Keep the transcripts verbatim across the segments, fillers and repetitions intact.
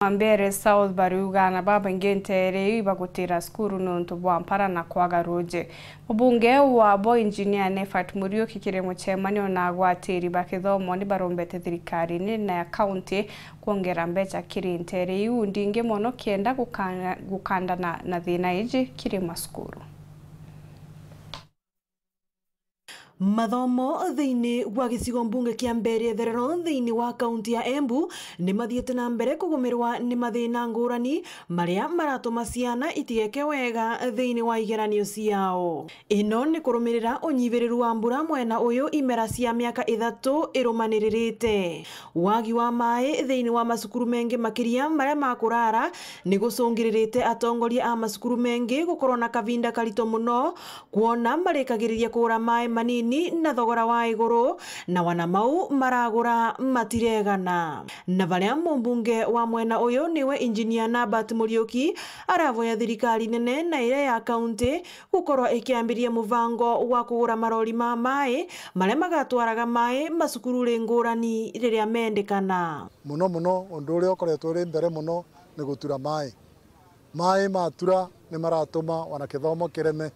Mambere South bariuga aana babaingi nteere iu ibagutira cukuru niuntu bwa mpara na kwaga ruuji. Mubunge wabo Engineer Nefat Muriuki kiri mucemanio na agwatiri ba kithomo ni barombete thirikari nene ya kaunti kwongera mbeca kiri nteere iu ndingi mono kenda gukana-, gukandana na thina iji kiri macukuru. Mathomo thiini wa gicigo mbunge kia Mbeere Itherero thiini wa kaunti ya Embu ni mathiite na mbere kugumirwa ni mathina ngurani maria maratuma ciana itigeke wega thiini wa igeranio ciao. Ino ni kurumirira unyiviriru wa mbura mwena uyu imera cia miaka ithatu irumaniririte. Wagi wa maai thiini wa macukuru mengi makiria maria ma kurara ni gucungiririte atongoria a macukuru mengi gukorwo na kavinda karito mono kwona marikagiriria kugura maai manini na thogora wa iguru, na wana mau maragura matiregana. Na baria mumbunge wa mwena uyu niwe Engineer Nabert Muriuki, aravoya thirikari nene na iria ya kaunti gukorwa ikiambiria muvango wa kugura marori ma maai maria magatwaraga maai macukururi ngurani riria mendekana. Mono mono undu uria ukoretwo uri mbere mono ni gutura maai. Maai matura ni maratuma wana kithomo kireme,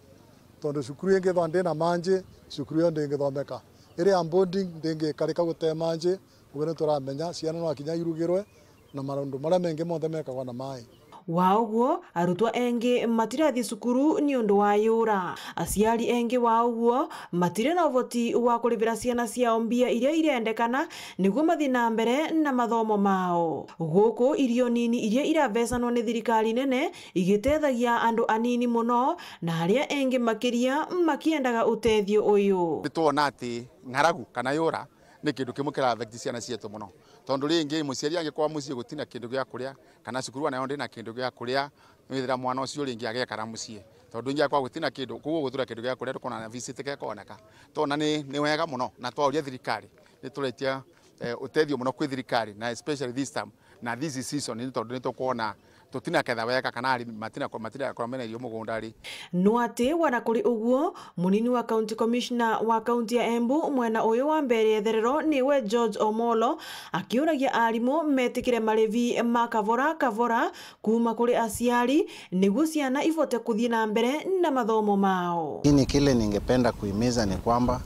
tondu cukuru ingithwa ndina manji, cukuru iyo ndingithomeka. Iria boarding ndingikarika gute manji, uguo ni turamenya ciana no akinya irugirwe na maundu maria mengi monthe mekagwa na maai. Wa uguo, arutwa engi matirathi cukuru ni undu wa yura. Aciari engi wa uguo matiri na uvoti wa kurivira ciana ciao mbia iria irendekana niguo mathi na mbere na mathomo mao. Guku irio nini iria iravecanwa ni thirikari nene igitethagia andu anini mono na aria engi makiria makiendaga utethio uyu. Nitwona ati ng'aragu kana yura ni kindu kimwe kira affect ciana cietu mono. Tondu ringi muciari angikorwa mucii gutina kindu gia kuria, kana cukuru anayo ndina kindu gia kuria, withira mwana ucio ringi agekara mucii. Tondu ingi akorwa gutina kindu, koguo gutura kindu gia kuria, ndukona na visit kekoneka. Tona ni, ni wega mono, na twauria thirikari, ni turetia, eh, utethio mono kwi thirikari, na especially this time, na this season, ni tondu ni tukwona tutinaketha wega kana arimi matina, matinakora mena irio mugunda ri. No ati wana kuri uguo, munini wa County Commissioner wa kaunti ya Embu mwena uyu wa Mbeere Itherero niwe George Omolo, akiuragia arimu metikire marivi ma kavora kavora kuuma kuri aciari niguo ciana ivote kuthii na mbere na mathomo mao. Lakini kile ningependa kuhimiza ni kwamba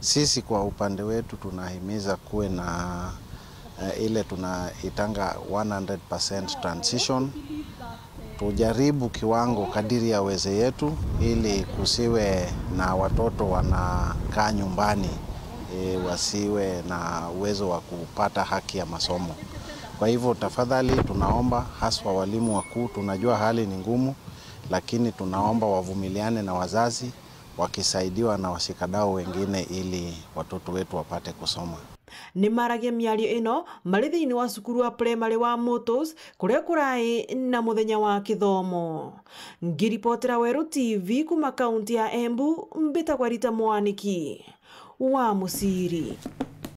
sisi kwa upande wetu tunahimiza kuwe na eh, ile tunaitanga one hundred percent transition. Tujaribu kiwango kadiri ya uwezo yetu ili kusiwe na watoto wanakaa nyumbani, eh, wasiwe na uwezo wa kupata haki ya masomo. Kwa hivyo, tafadhali tunaomba, haswa walimu wakuu, tunajua hali ni ngumu, lakini tunaomba wavumiliane na wazazi, wakisaidiwa na washikadau wengine ili watoto wetu wapate kusoma. Ni maragia miario ino mari thiini wa cukuru wa primary wa Motos, kuria kurai na muthenya wa kithomo. Ngiripotera Weru T V kuma kaunti ya Embu, mbitagwa Rita Mwaniki wa Muciri.